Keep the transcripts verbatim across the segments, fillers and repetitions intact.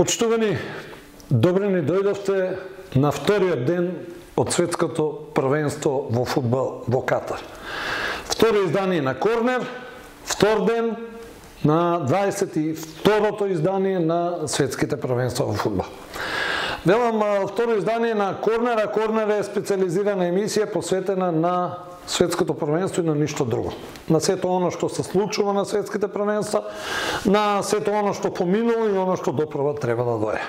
Почитувани, добре ни дојдовте на вториот ден од светското првенство во фудбал во Катар. Второ издание на Корнер, втор ден на дваесет и второто издание на светските првенства во фудбал. Велам, второ издание на Корнер, а Корнер е специализирана емисија посветена на светското првенство и на ништо друго. На сето оно што се случува на светските првенства, на сето оно што поминало и оно што допрва треба да дое.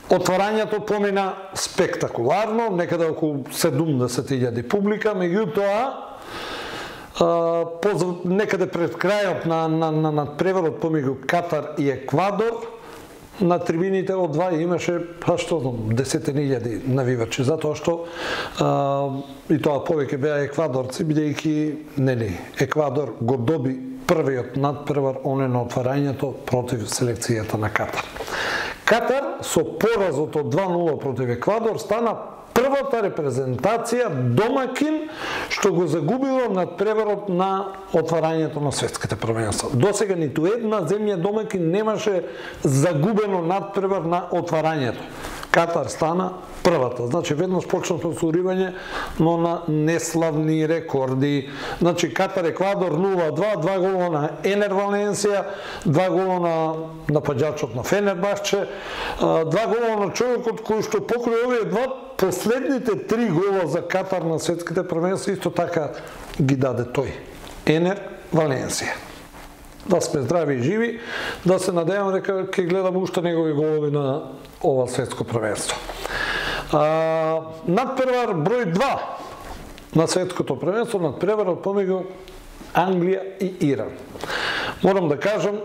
Отварањето помина спектакуларно, некаде околу седумдесет илјади публика, меѓутоа некаде пред крајот на, на, на надпреварот помеѓу Катар и Еквадор, на трибините од два имаше, па што знам, десетини илјади навивачи, затоа што а, и тоа повеќе беа еквадорци, бидејќи нели Еквадор го доби првиот надпревар оне на отварањето против селекцијата на Катар. Катар со поразот од два нула против Еквадор стана првата репрезентација домакин што го загубила надпреварот на отварањето на светските првенства. Досега ниту една земја домакин немаше загубено надпревар на отварањето. Катар стана првата. Значи, веднаш почна повторување, но на неславни рекорди. Значи, Катар-Еквадор нула два, два гола на Енер Валенсија, два гола на напаѓачот на Фенербахче, два гола на човекот кој што покрај овие два последните три гола за Катар на светските првенства исто така ги даде тој. Енер Валенсија. Да сме здрави и живи, да се надевам дека ќе гледам уште негови голови на ова светско првенство. А, надпревар број два на светското првенство, надпреварот помеѓу Англија и Иран. Морам да кажам,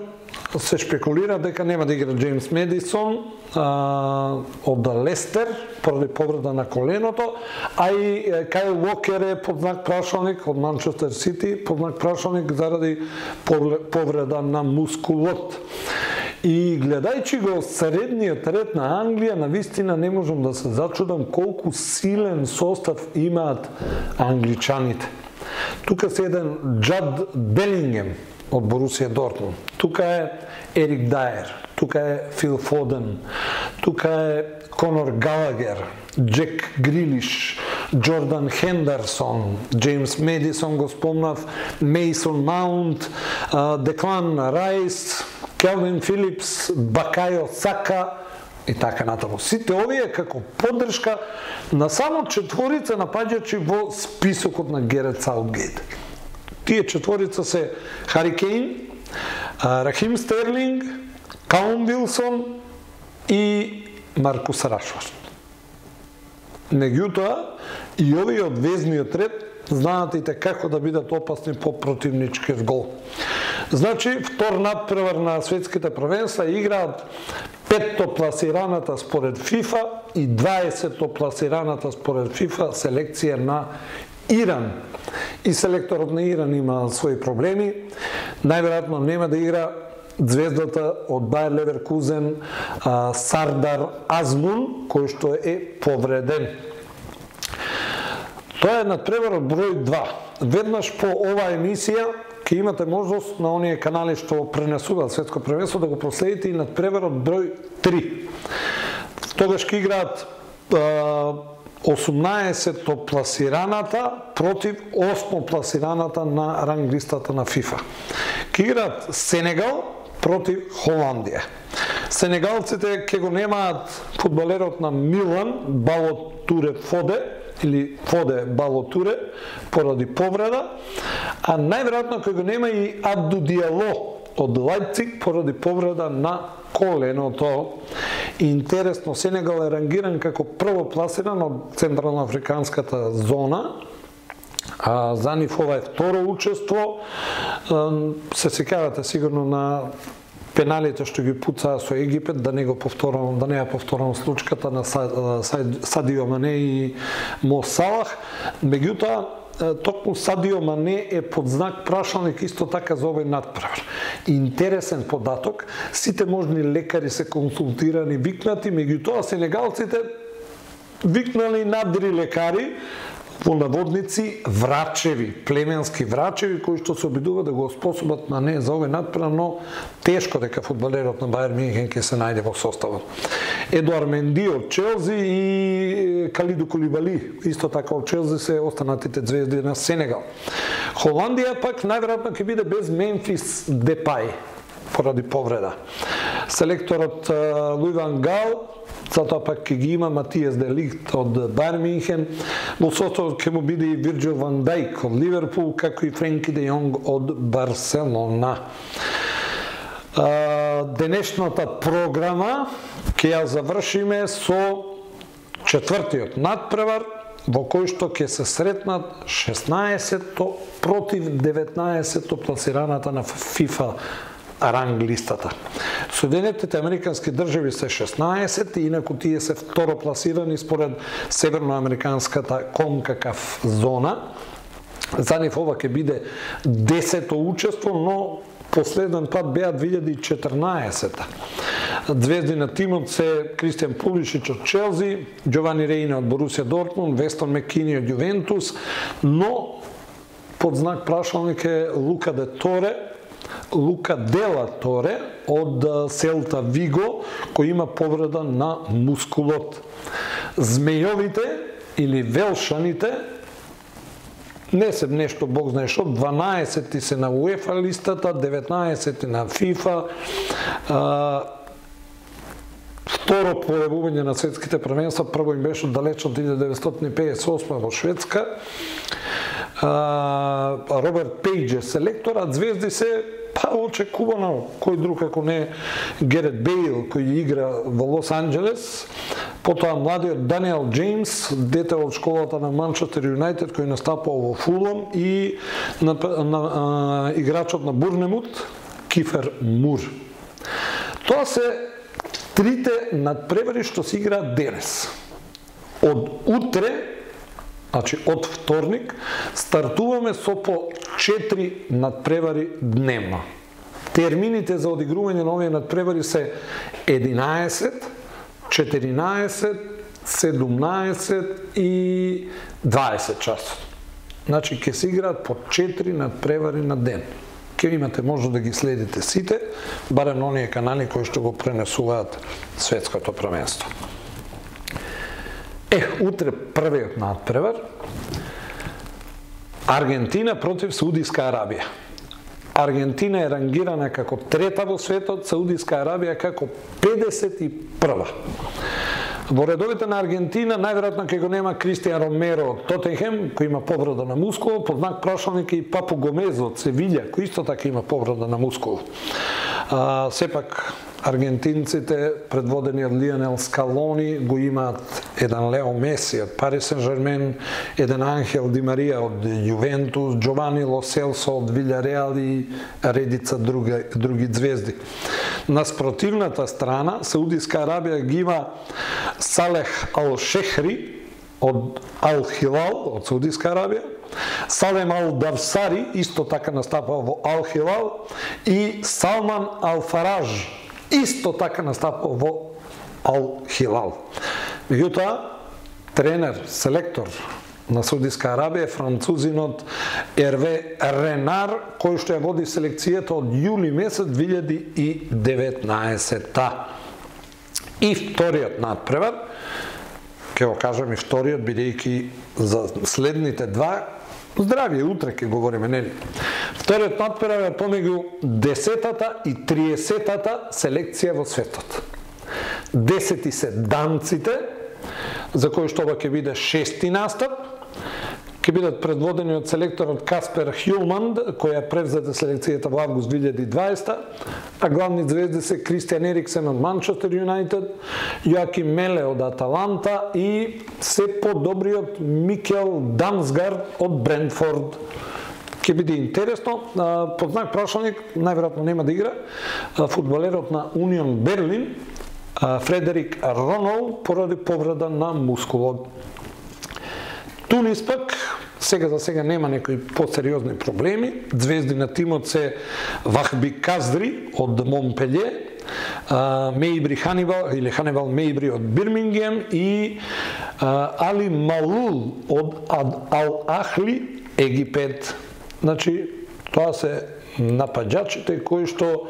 се шпекулира дека нема да игра Джеймс Медисон а, од Лестер поради повреда на коленото, а и Кайл Уокер е под знак прашалник од Манчестер Сити, под знак прашалник заради повреда на мускулот. И гледајќи го средниот ред на Англија, навистина не можам да се зачудам колку силен состав имаат англичаните. Тука се еден Джад Белингем од Борусија Дортмунд. Тука е Ерик Дајер, тука е Фил Фоден, тука е Конор Галагер, Джек Грилиш, Джордан Хендерсон, Джеймс Медисон го спомнав, Мейсон Маунт, Деклан Райс, Келвин Филипс, Бакајо Сака и така натаму. Сите овие како поддршка на само четворица напаѓачи во списокот на Герет Саутгейт. Тие четворица се Хари Кейн, Рахим Стерлинг, Калум Вилсон и Маркус Рашфорд. Меѓутоа, и овие од везниот ред знаат и како да бидат опасни по противничкиот гол. Значи, втор надпревар на светските првенства играат петто пласираната според ФИФА и дваесетто пласираната според ФИФА селекција на Иран. И селекторот на Иран има своји проблеми. Најверојатно нема да игра звездата од Бајер Леверкузен Сардар Азмун, кој што е повреден. Тоа е надпреварот број два. Веднаш по оваа емисија ќе имате можност на оние канали што пренесуваат светско првенство да го проследите и надпреварот број три. Тогаш ќе играат осумнаесетто пласираната против осмо пласираната на ранг листата на ФИФА. Ќе играат Сенегал против Холандија. Сенегалците ќе го немаат фудбалерот на Милан, Балотуре Фоде, или Фоде Балотуре, поради повреда, а најверојатно ќе го нема и Абду Диало од Лајпциг поради повреда на коленото. Интересно, Сенегал е рангиран како прво пласиран од Централноафриканската зона, а за нив ова е второ учество. Се сеќавате сигурно на пеналите што ги пуцаа со Египет, да не го повторам, да не ја повторам случката на Садио Мане и Мо Салах. Меѓутоа, токму Садио Мане е под знак прашалник исто така за овој надпревар. Интересен податок, сите можни лекари се консултирани, викнати, меѓутоа сенегалците викнали надри лекари, во наводници врачеви, племенски врачеви кои што се обидуваат да го способат на не за овој надпревар, но тешко дека фудбалерот на Бајер Мюнхен ќе се најде во составот. Едуард Менди од Челси и Калиду Кулибали, исто така од Челси се останатите звезди на Сенегал. Холандија пак најверојатно ќе биде без Мемфис Депај поради повреда. Селекторот Луи ван Гал, затоа пак ќе ги има Матијас де Лигт од Бајер Мюнхен, во составот ќе му биде и Вирџил ван Дајк од Ливерпул, како и Френки де Јонг од Барселона. Денешната програма ќе ја завршиме со четвртиот надпревар, во кој што ќе се сретнат шеснаесетто против деветнаесетто пласираната на ФИФА ранг листата. Соединетите американски држави се шеснаесет, инаку тие се второ пласирани според северноамериканската конкакаф зона. За нив ова ќе биде десето учество, но последен пат беа две илјади и четрнаесета. Звезди на тимот се Кристијан Пулишич од Челси, Џовани Рейна од Борусија Дортмунд, Вестон Мекини од Јувентус, но под знак прашалник е Лука де Торе, Лука Дела Торе од Селта Виго, кој има повреда на мускулот. Змејовите или Велшаните не се нешто бог знае што, дванаесети се на УЕФА листата, деветнаесети на ФИФА, второ појавување на светските првенства, прво им беше далеч од илјада деветстотини педесет и осма во Шведска. Роберт Пејдж е селектор, а звезди се па очекувано кој друг ако не Герет Бейл кој игра во Лос Анџелес, потоа младиот Даниел Джеймс, дете од школата на Манчестер Юнайтед кој настапува во Фулам, и на, на, а, играчот на Бурнемут Кифер Мур. Тоа се трите надпревари што се играат денес. Од утре, значи од вторник, стартуваме со по четири надпревари дневно. Термините за одигрување на овие надпревари се единаесет, четиринаесет, седумнаесет и дваесет часот. Значи ќе се играат по четири надпревари на ден. Ќе имате може да ги следите сите, барем на оние канали кои што го пренесуваат светското првенство. Е, утре првиот надпревар, Аргентина против Саудиска Арабија. Аргентина е рангирана како трета во светот, Саудиска Арабија како педесет и прва. Во редовите на Аргентина најверојатно ќе го нема Кристијан Ромеро од Тотенхем, кој има повреда на мускул, под знак прашалник и Папу Гомез од Севиља, кој исто така има повреда на мускул. А, сепак аргентинците, предводени од Лионел Скалони, го имаат еден Лео Меси од Парис Сен-Жермен, еден Анхел Ди Марија од Јувентус, Џовани Ло Селсо од Вилјареал и редица други, други звезди. На спротивната страна, Саудиска Арабија ги има Салех Ал-Шехри од Ал-Хилал, од Саудиска Арабија, Салем Ал-Давсари, исто така настапува во Ал-Хилал, и Салман Ал-Фараж, исто така настапува во Ал-Хилал. Меѓутоа, тренер, селектор на Саудиска Арабија е французинот Ерве Ренар, кој што ја води селекцијата од јули месец две илјади и деветнаесета. И вториот надпревар, ќе го кажам и вториот, бидејќи за следните два, здравие, утре ќе говориме, нели? Вториот надпревар е помеѓу десетата и триесетата селекција во светот. Десети се данците, за кои што ова ќе биде шести настап, ќе бидат предводени од селекторот Каспер Хјулманд, која превзеде селекцијата во август две илјади и дваесета, а главни звезди се Кристијан Ериксен од Манчестер Юнайтед, Јоаким Меле од Аталанта и се подобриот Микел Дамсгард од Брентфорд. Ќе биде интересно. Под знак прашалник, најверојатно нема да игра, фудбалерот на Унион Берлин, Фредерик Ронол, поради повреда на мускулот. Тунис пак, сега за сега нема некои посериозни проблеми. Звезди на тимот се Вахби Каздри од Монпелје, Мейбри Ханибал или Ханибал Мейбри од Бирмингем и Али Малул од Ал Ахли, Египет. Значи, тоа се напаѓачите кои што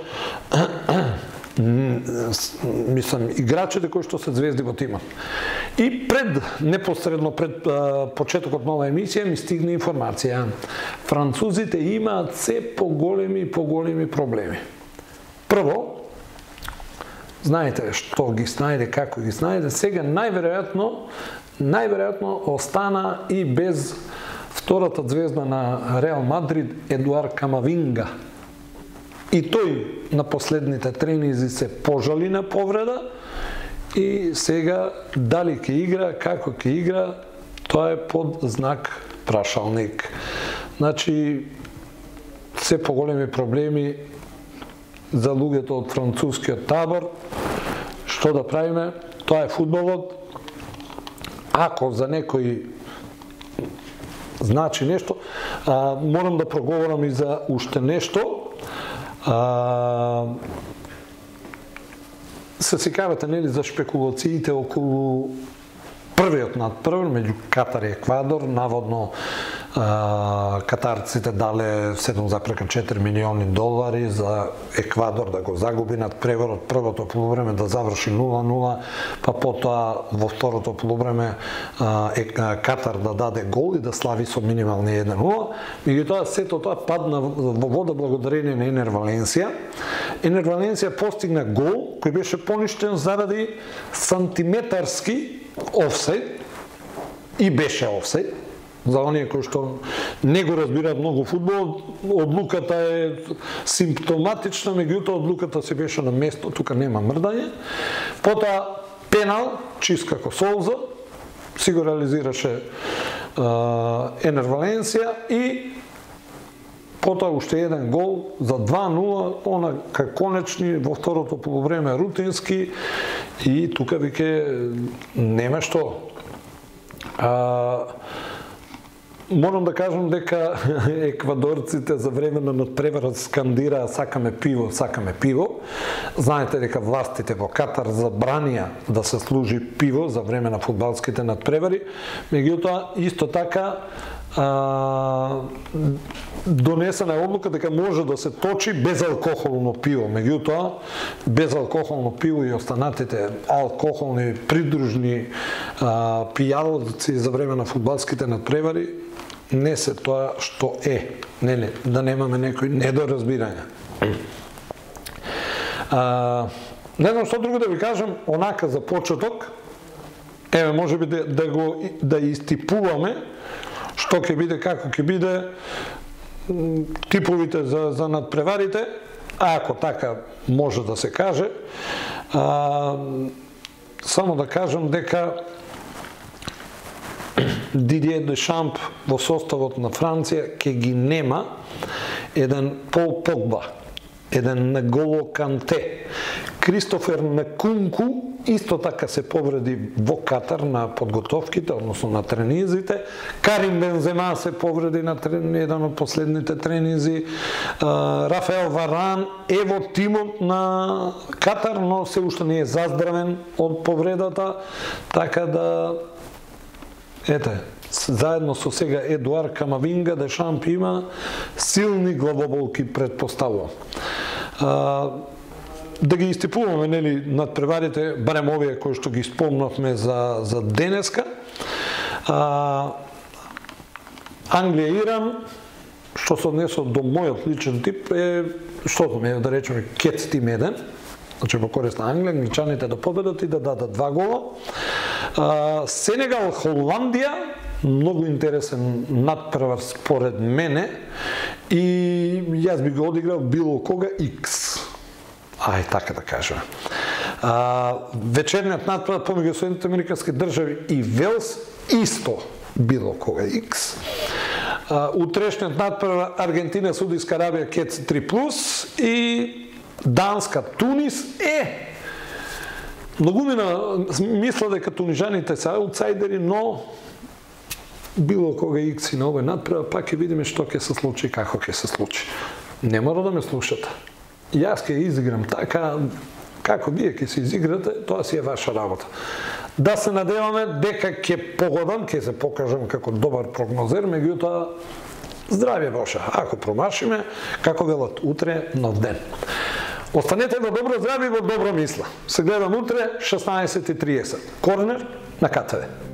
мислам, играчите кои што се звезди во тимот. И пред, непосредно пред а, почетокот на оваа емисија ми стигна информација. Французите имаат се поголеми и поголеми проблеми. Прво, знаете што ги снајде, како ги снајде, сега најверојатно, најверојатно остана и без втората звезда на Реал Мадрид, Едуард Камавинга. И тој на последните тренизи се пожали на повреда и сега дали ќе игра, како ќе игра, тоа е под знак прашалник. Значи, се поголеми проблеми за луѓето од францускиот табор. Што да правиме? Тоа е фудбалот. Ако за некој значи нешто, а, морам да проговорам и за уште нешто. А, се секавате, нели, за шпекулациите околу првиот надпревар меѓу Катар и Еквадор. Наводно а, катарците дале седум запрека четири милиони долари за Еквадор да го загуби надпреварот, првото полувреме да заврши нула нула, па потоа во второто полувреме а, е, а, Катар да даде гол и да слави со минимални еден нула. Меѓутоа сето тоа падна во вода благодарение на Енер Валенсија. Енер Валенсија постигна гол кој беше поништен заради сантиметарски офсайд и беше офсайд. За оние кои што не го разбираат многу фудбал, одлуката е симптоматична, меѓутоа одлуката се беше на место, тука нема мрдање. Потоа пенал, чист како солза, си го реализираше Енер Валенсија и потоа уште еден гол за два нула, она кај конечни во второто полувреме рутински и тука веќе нема што. А, морам да кажам дека еквадорците за време на надпреварот скандираа сакаме пиво, сакаме пиво. Знаете дека властите во Катар забранија да се служи пиво за време на фудбалските надпревари, меѓутоа исто така а, донесена е одлука дека може да се точи безалкохолно пиво. Меѓутоа, безалкохолно пиво и останатите алкохолни придружни а, пијалци за време на фудбалските надпревари не се тоа што е. Нели, да немаме некој недоразбирање. А, не знам што друго да ви кажам, онака за почеток, еве можеби да, да го да истипуваме што ќе биде, како ќе биде, типовите за, за надпреварите, ако така може да се каже. А, само да кажам дека Дидие Дешамп во составот на Франција ќе ги нема еден Пол Погба, еден N'Golo Канте, Кристофер Нкунку исто така се повреди во Катар на подготовките, односно на тренизите. Карим Бензема се повреди на трен, еден од последните тренизи. Рафаел Варан е во тимот на Катар, но се уште не е заздравен од повредата, така да ете, заедно со сега Едуард Камавинга, Дешамп има силни главоболки, предпоставувам. Да ги истипуваме, нели, надпреварите, барем овие кои што ги спомнавме за, за денеска. А, Англија Иран, што се однесува до мојот личен тип, е, што знаме, да речеме, кец тим еден, значи во корист на Англија, англичаните да победат и да дадат два гола. А, Сенегал, Холандија, многу интересен надпревар според мене и јас би го одиграл било кога X. Ај, така да кажем. А, вечерниот надпревар помеѓу Соединетите американски држави и Велс исто било кога X. А, утрешниот надпревар Аргентина, Саудиска Арабија, Кец три плюс и Данска, Тунис е. Многумина мисла дека тунижаните се аутсайдери, но било кога X и на овој надпревар, пак ќе видиме што ќе се случи, како ќе се случи. Не мора да ме слушате. Јас ќе изиграм така, како вие ќе се изиграте, тоа си е ваша работа. Да се надеваме дека ќе погодам, ќе се покажам како добар прогнозер, меѓутоа здравје Боше. Ако промашиме, како велат, утре нов ден. Останете во добро здравје и во добро мисла. Се гледам утре шеснаесет и триесет. Корнер на КТВ.